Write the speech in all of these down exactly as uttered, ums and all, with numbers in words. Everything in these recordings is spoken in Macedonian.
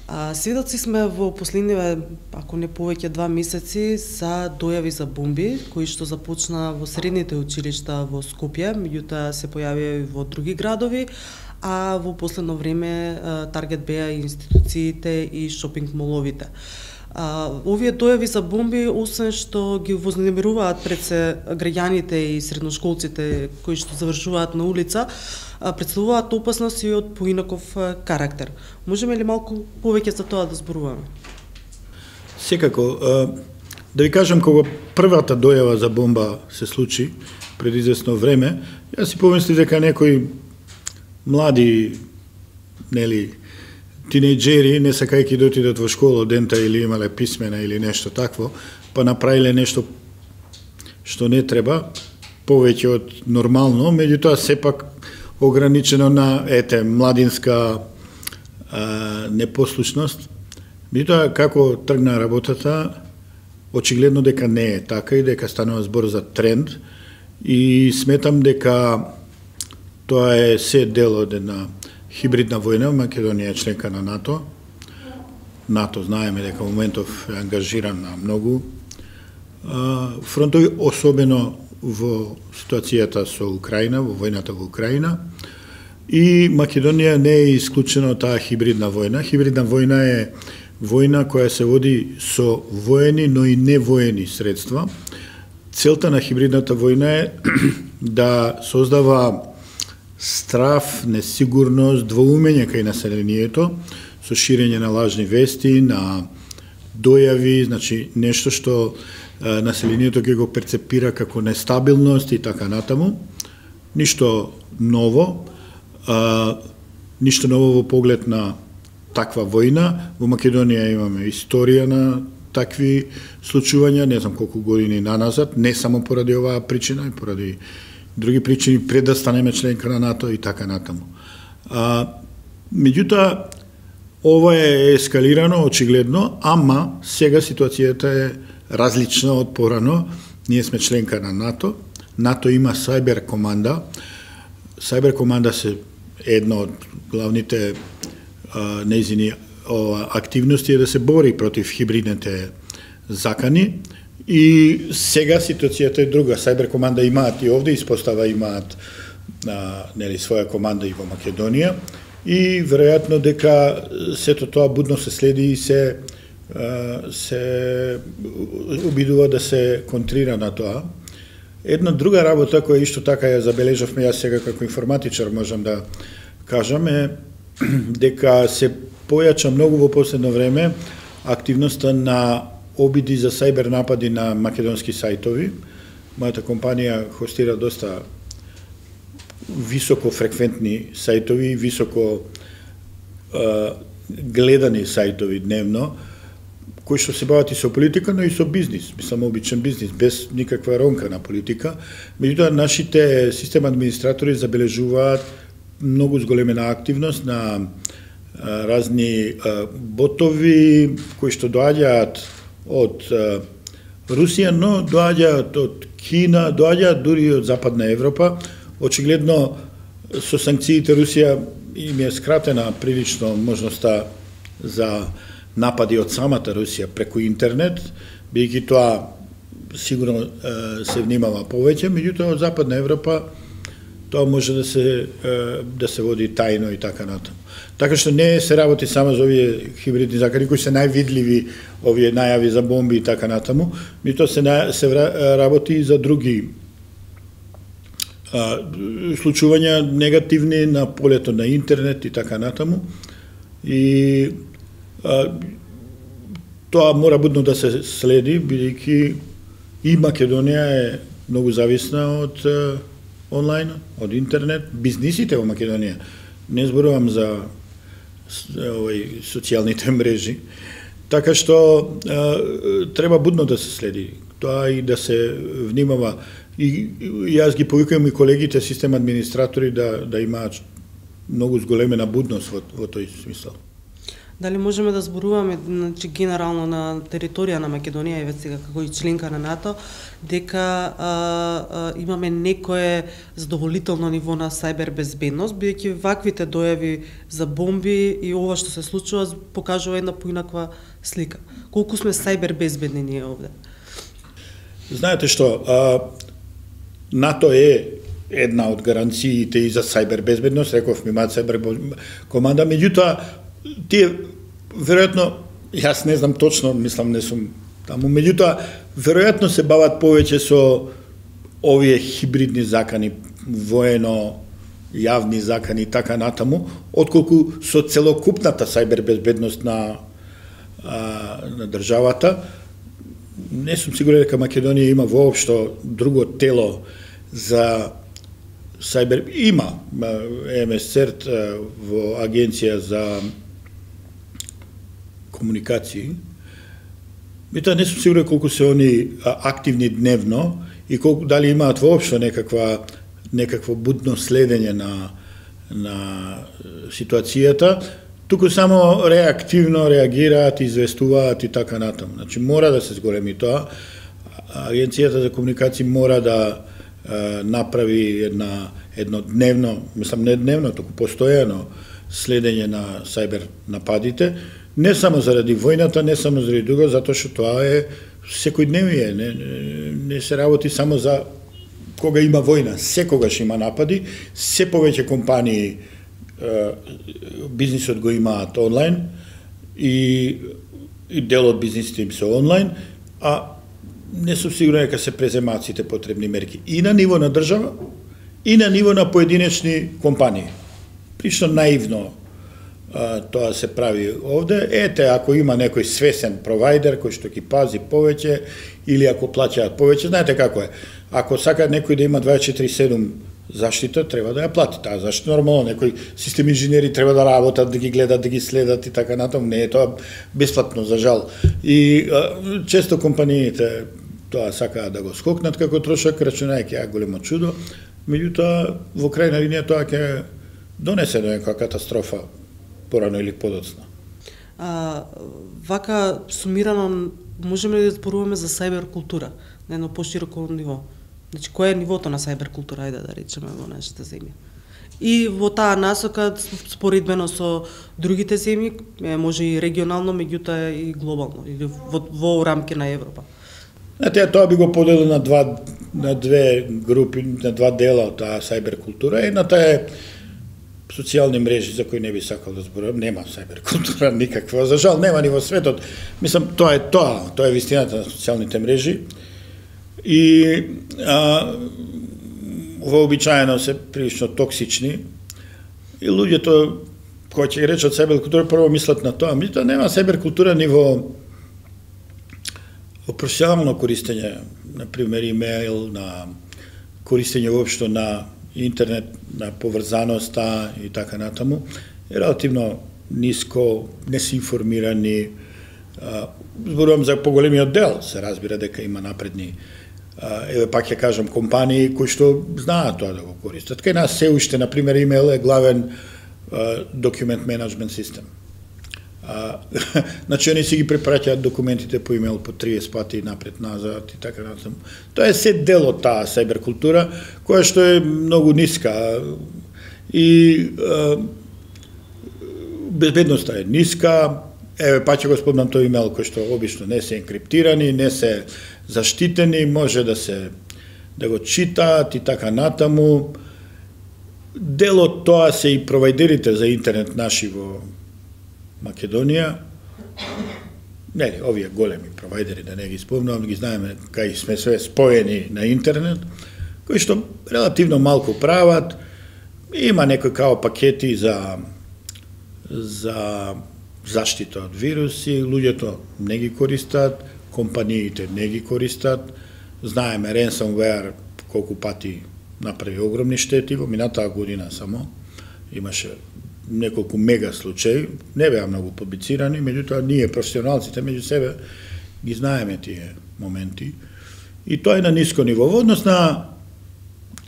А, сведоци сме во последниве, ако не повеќе два месеци, за дојави за бомби, кои што започна во средните училишта во Скопје, меѓутоа се појавија и во други градови, а во последно време таргет беа и институциите и шопинг моловите. А, овие дојави за бомби, освен што ги вознемируваат пред се граѓаните и средношколците кои што завршуваат на улица, представуваат опасност и од поинаков карактер. Можеме ли малку повеќе за тоа да зборуваме? Секако, да ви кажам, кога првата дојава за бомба се случи пред известно време, јас си помислив дека некои млади, нели, тинејџери, не сакајќи да отидат во школа дента или имале писмена или нешто такво, па направиле нешто што не треба, повеќе од нормално, меѓутоа сепак ограничено на ете младинска а, непослушност. Меѓутоа како тргна работата, очигледно дека не е така и дека станува збор за тренд и сметам дека тоа е се дел од една хибридна војна. Македонија е членка на НАТО. НАТО знаеме дека во моментов е ангажиран на многу фронтови, особено во ситуацијата со Украина, во војната во Украина. И Македонија не е исклучена од таа хибридна војна. Хибридна војна е војна која се води со воени, но и невоени средства. Целта на хибридната војна е да создава страф, несигурност, двоумење кај населението, со ширење на лажни вести, на дојави, значи нешто што а, населението ќе го перцепира како нестабилност и така натаму. Ништо ново, а, ништо ново во поглед на таква војна. Во Македонија имаме историја на такви случувања, не знам колку години наназад, не само поради оваа причина, и поради други причини пред да станеме членка на НАТО и така натаму. А, меѓутоа, ова е ескалирано очигледно, ама сега ситуацијата е различна од порано. Ние сме членка на НАТО. НАТО има Сайбер команда. Сайбер команда се една од главните а, нејзини активности е да се бори против хибридните закани. И сега ситуацијата е друга. Сайбер команда имаат и овде, испостава имаат а, нели, своја команда и во Македонија. И веројатно дека сето тоа будно се следи и се, а, се обидува да се контрира на тоа. Една друга работа која исто така ја забележавме, јас сега како информатичар можам да кажам, е дека се појача многу во последно време активноста на обиди за сајбер напади на македонски сајтови. Мојата компанија хостира доста високо фреквентни сајтови, високо а, гледани сајтови дневно, кои што се бават и со политика, но и со бизнис, мислам обичен бизнис, без никаква ронка на политика. Меѓутоа, нашите систем администратори забележуваат многу зголемена активност на а, разни а, ботови кои што доаѓаат од а, Русија, но доаѓаат од Кина, доаѓаат дури од Западна Европа. Очигледно, со санкциите Русија им е скратена прилично можноста за напади од самата Русија преку интернет, бидејќи тоа сигурно се внимава повеќе, меѓутоа од Западна Европа тоа може да се да се води тајно и така натаму. Така што не се работи само за овие хибридни закани кои се највидливи, овие најави за бомби и така натаму, меѓутоа се се работи и за други а, случувања негативни на полето на интернет и така натаму. И а, тоа мора будно да се следи, бидејќи и Македонија е многу зависна од а, онлайн, од интернет. Бизнисите во Македонија, не зборувам за овој социјалните мрежи, така што а, треба будно да се следи тоа и да се внимава. И, и јас ги повикувам и колегите систем администратори да да имаат многу зголемена будност во, во тој смисол. Дали можеме да зборуваме, значи, генерално на територија на Македонија и сега како и членка на НАТО, дека а, а, имаме некое задоволително ниво на сајбер безбедност, бидејќи ваквите дојави за бомби и ова што се случува покажува една поинаква слика. Колку сме сајбер безбедни ние овде? Знаете што, а, НАТО е една од гаранциите и за сајбер безбедност, реков ми имаат сајбер команда, меѓутоа тие веројатно, јас не знам точно, мислам не сум таму, меѓутоа веројатно се бават повеќе со овие хибридни закани, воено јавни закани и така натаму, отколку со целокупната сајбер безбедност на а, на државата. Не сум сигурен дека Македонија има воопшто друго тело за сајбер. Има ЕМСЦЕРТ во Агенција за комуникации. Меѓутоа не сум сигурен колку се они активни дневно и колку дали имаат воопшто некаква некакво будно следење на на ситуацијата. Туку само реактивно реагираат, известуваат и така натаму. Значи мора да се зголеми тоа. Агенцијата за комуникации мора да е, направи една едно дневно, мислам не дневно, туку постојано следење на сајбер нападите, не само заради војната, не само заради друго, затоа што тоа е секојдневие, не, не се работи само за кога има војна, секогаш има напади, се повеќе компании бизнисот го имаат онлайн и, и дел од бизнисите им се онлайн, а не сум сигурен дека се преземаат сите потребни мерки и на ниво на држава, и на ниво на поединечни компании. Прилично наивно а, тоа се прави овде. Ете, ако има некој свесен провайдер кој што ги пази повеќе или ако плаќаат повеќе, знаете како е. Ако сака некој да има дваесет и четири седум заштита, треба да ја плати таа заштита. Нормално, некои систем инженери треба да работат, да ги гледат, да ги следат и така натаму. Не е тоа бесплатно, за жал. И а, често компаниите тоа сакаат да го скокнат како трошак, рачунајќи ја големо чудо. Меѓутоа, во крајна линија тоа ќе донесе до некоја катастрофа порано или подоцна. А, вака сумирано можеме ли да зборуваме за сајбер култура на едно пошироко ниво? Значи, кој е нивото на сајбер култура, ајде да речеме, во нашата земја? И во таа насока, споредбено со другите земји, може и регионално, меѓутоа и глобално, или во, во рамки на Европа. Знаете, тоа би го поделил на два на две групи, на два дела од таа сајбер култура. Едната е социјални мрежи за кои не би сакал да зборувам, нема сајбер култура никаква, за жал нема ни во светот. Мислам, тоа е тоа, тоа е вистината на социјалните мрежи. И а, вообичаено се прилично токсични и луѓето кои ќе речат сајбер култура прво мислат на тоа, меѓутоа нема сајбер култура ни во во професионално користење, на пример имејл, на користење воопшто на интернет, на поврзаноста и така натаму, е релативно ниско, не се информирани. Зборувам за поголемиот дел, се разбира дека има напредни, еве пак ќе кажам, компании кои што знаат тоа да го користат. Кај нас се уште, на пример, имејл е главен документ менеджмент систем. А, значи, они си ги препраќаат документите по имејл по триесет пати напред-назад и така натаму. Тоа е се дел од таа сајбер култура, која што е многу ниска. И а, безбедноста е ниска. Еве, па ќе го спомнам тој имејл кој што обично не се енкриптирани, не се заштитени, може да се да го читаат и така натаму. Дел од тоа се и провайдерите за интернет наши во Македонија, нели, овие големи провайдери, да не ги спомнувам, ги знаеме кај сме све споени на интернет, кои што релативно малку прават, има некои као пакети за за заштита од вируси, луѓето не ги користат, компаниите не ги користат, знаеме ransomware колку пати направи огромни штети, во минатаа година само имаше неколку мега случаи, не беа многу публицирани, меѓутоа ние професионалците меѓу себе ги знаеме тие моменти. И тоа е на ниско ниво. Во однос на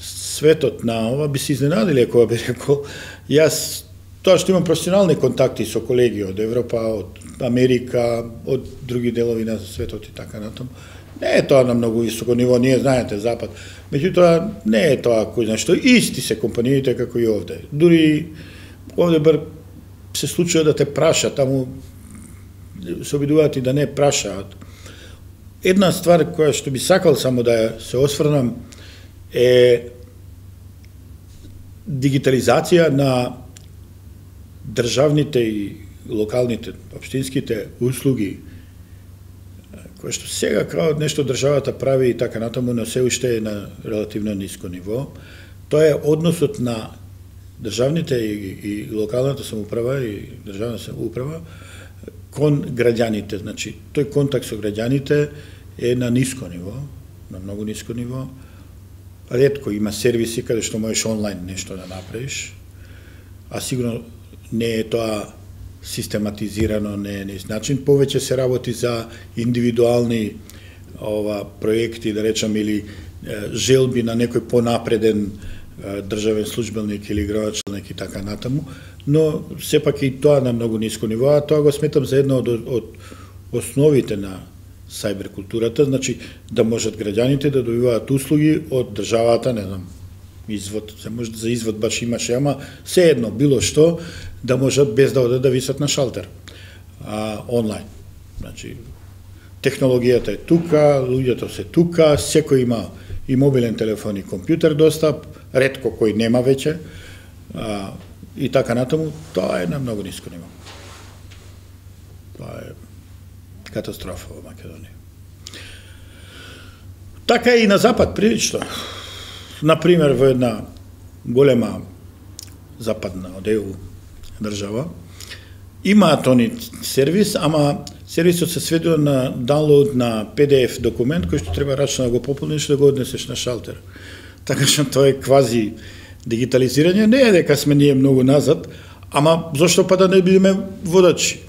светот на ова би се изненадили ако би рекол, јас тоа што имам професионални контакти со колеги од Европа, од Америка, од други делови на светот и така натаму, не е тоа на многу високо ниво, ние знаете Запад. Меѓутоа не е тоа кој знае што, исти се компаниите како и овде. Дури овде бар се случува да те праша, таму се обидуваат и да не прашаат. Една ствар која што би сакал само да се осврнам е дигитализација на државните и локалните, општинските услуги, кој што сега крајот нешто државата прави и така натаму, но се уште е на релативно ниско ниво. Тоа е односот на државните и, и локалната самоуправа и државна самоуправа кон граѓаните. Значи, тој контакт со граѓаните е на ниско ниво, на многу ниско ниво. Ретко има сервиси каде што можеш онлайн нешто да направиш, а сигурно не е тоа систематизирано, не е низ начин. Повеќе се работи за индивидуални ова проекти, да речам, или е, желби на некој понапреден е, државен службеник или градоначалник и така натаму, но сепак и тоа на многу ниско ниво, а тоа го сметам за едно од, од основите на сајбер културата, значи да можат граѓаните да добиваат услуги од државата, не знам, извод, се може за извод баш имаше, ама се едно, било што, да можат без да одат да висат на шалтер, а, онлайн. Значи, технологијата е тука, луѓето се тука, секој има и мобилен телефон и компјутер достап, ретко кој нема веќе, а, и така натаму, тоа е на многу ниско ниво. Тоа е катастрофа во Македонија. Така и на запад прилично. Например, во една голема западна од Е У држава имаат они сервис, ама сервисот се сведува на даунлоуд на Пи Ди Еф документ кој што треба рачно да го пополниш да го однесеш на шалтер. Така што тоа е квази дигитализирање, не е дека сме ние многу назад, ама зошто па да не бидеме водачи?